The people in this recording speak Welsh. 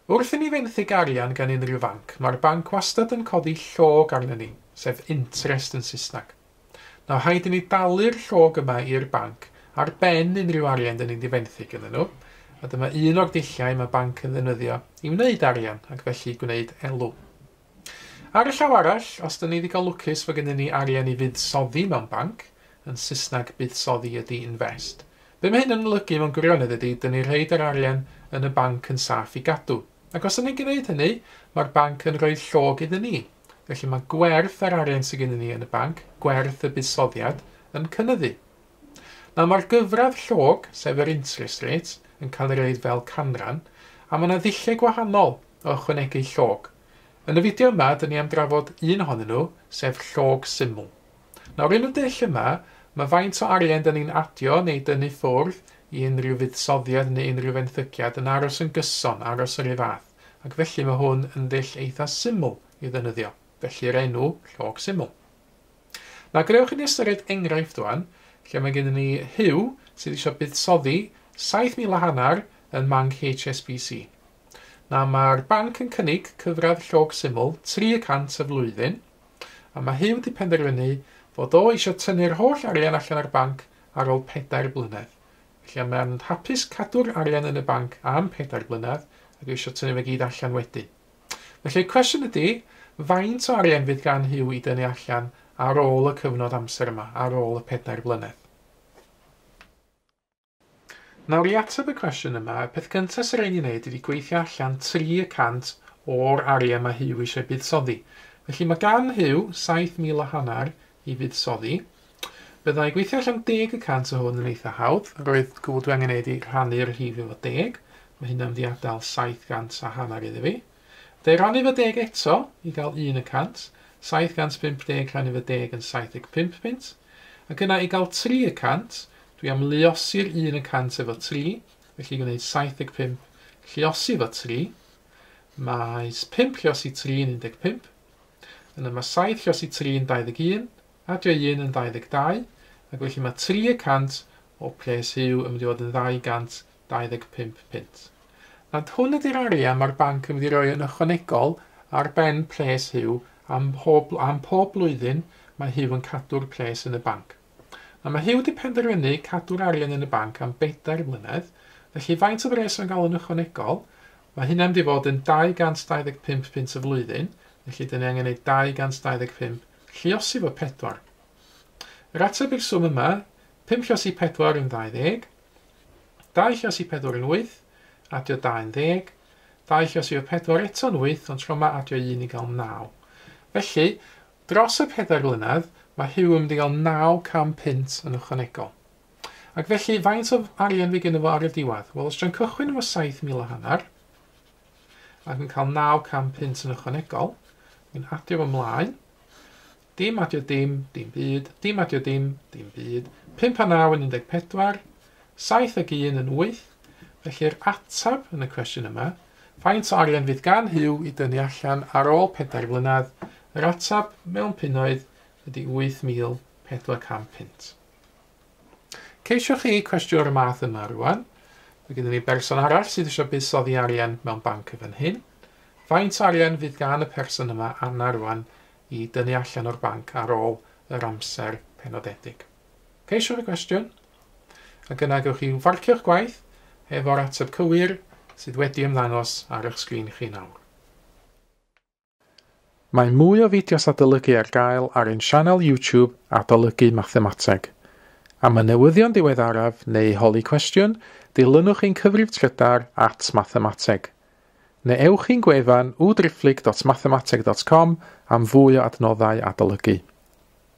Wrth i ni fenthyg arian gan unrhyw fanc, mae'r banc wastad yn codi llog arnon ni, sef interest yn Saesneg. Nawr, rhaid i ni dalu'r llog yma i'r banc ar ben unrhyw arian dyn ni'n di fenthyg iddyn nhw, a dyma un o'r dulliau mae banc yn ddefnyddio i wneud arian ac felly gwneud elw. Ar y llaw arall, os dyn ni ddigon lwcus fod gennym ni arian i fuddsoddi mewn banc, yn Saesneg buddsoddi ydy invest. Be mae hyn yn olygu mewn gwirionedd ydy, dyn ni rhoid yr arian yn y banc yn saff i gadw. Ac os ydyn ni'n gwneud hynny, mae'r banc yn rhoi llog iddyn ni. Felly mae gwerth yr arian sydd gennym ni yn y banc, gwerth y buddsoddiad, yn cynyddu. Nawr mae'r gyfradd llog, sef yr interest rate, yn cael ei roid fel canran, a mae yna ddulliau gwahanol o ychwanegu llog. Yn y fideo yma, dyn ni am drafod un ohonyn nhw, sef llog syml. Nawr, yn y dull yma, mae faint o arian dyn ni'n adio neu dynnu ffwrdd i unrhyw fuddsoddiad neu unrhyw fenthyciad yn aros yn gyson, aros yr un fath, ac felly mae hwn yn ddull eitha syml i ddefnyddio, felly'r enw llog syml. Nawr, gadewch i ni ystyried enghraifft wan, lle mae gennym ni Huw sydd eisiau buddsoddi 7,500 yn manc HSBC. Nawr, mae'r banc yn cynnig cyfradd llog syml 3% y flwyddyn, a mae Huw wedi penderfynu fod o eisiau tynnu'r holl arian allan o'r banc ar ôl 4 blynedd. Felly mae'n hapus cadw'r arian yn y banc am 4 blynedd ac eisiau tynnu fe gyd allan wedyn. Felly y cwestiwn ydy, faint o arian fydd gan Huw i dynnu allan ar ôl y cyfnod amser yma, ar ôl y 4 blynedd? Nawr, i ateb y cwestiwn yma, y peth gyntaf sy'n rhaid i ni wneud ydy gweithio allan 3% o'r arian mae Huw eisiau buddsoddi. Felly mae gan Huw 7,500 i fuddsoddi. Byddai gweithio allan 10% o hwn yn eitha hawdd. Roedd gwybod dwi angen wneud i rhannu'r rhif efo 10. Mae hynna'n mynd i adael 750 iddo fi. Byddai rannu efo 10 eto i gael 1%. 750 rhannu efo 10 yn 75 punt. Ac yna i gael 3%, dwi am luosi'r 1% efo 3, felly gwneud 75 lluosi efo 3. Mae 5 lluosi 3 yn 15. Yna mae 7 lluosi 3 yn 21, adio 1 yn 22, ac felly mae 3% o pres Huw yn mynd i fod yn 225 punt. Nawr, hwn ydy'r arian mae'r banc yn mynd i roi yn ychwanegol ar ben pres Huw am pob blwyddyn mae Huw yn cadw'r pres yn y banc. Nawr, mae Huw wedi penderfynu cadw'r arian yn y banc am 4 blynedd, felly faint o bres mae'n gael yn ychwanegol? Mae hynna'n mynd i fod yn 225 punt y flwyddyn, felly dyn ni angen gwneud 225 lluosi fo 4. Yr ateb i'r swm yma, 5 lluosi 4 yn 20, 2 lluosi 4 yn 8, adio 2 yn 10, 2 lluosi 4 eto'n 8, ond tro yma adio 1 i gael 9. Felly, dros y 4 blynedd, mae Huw yn mynd i gael 900 punt yn ychwanegol. Ac felly, faint o arian fi gynno fo ar y diwedd? Wel, os dwi'n cychwyn efo 7,500, ac yn cael 900 punt yn ychwanegol, dwi'n adio fo ymlaen, dim adio dim, dim byd, dim adio dim, dim byd, 5 a 9 yn 14, 7 ag 1 yn 8, felly'r ateb yn y cwestiwn yma, faint o arian fydd gan Huw i dynnu allan ar ôl 4 blynedd, yr ateb mewn punnoedd ydy 8,400 punt. Ceisiwch chi cwestiwn o'r math yma rwan. Mae gennym ni berson arall sydd eisiau buddsoddi arian mewn banc y fan hyn. Faint o arian fydd gan y person yma, Anna rwan, i dynnu allan o'r banc ar ôl yr amser penodedig? Ceisiwch y cwestiwn, ac yna gewch chi farcio'ch gwaith efo'r ateb cywir sydd wedi ymddangos ar eich sgrin chi nawr. Mae mwy o fideos adolygu ar gael ar ein sianel YouTube Adolygu Mathemateg. Am y newyddion diweddaraf neu holi cwestiwn, dilynwch ein cyfrif trydar @mathemateg. Neu ewch i'n gwefan www.mathemateg.com am fwy o adnoddau adolygu.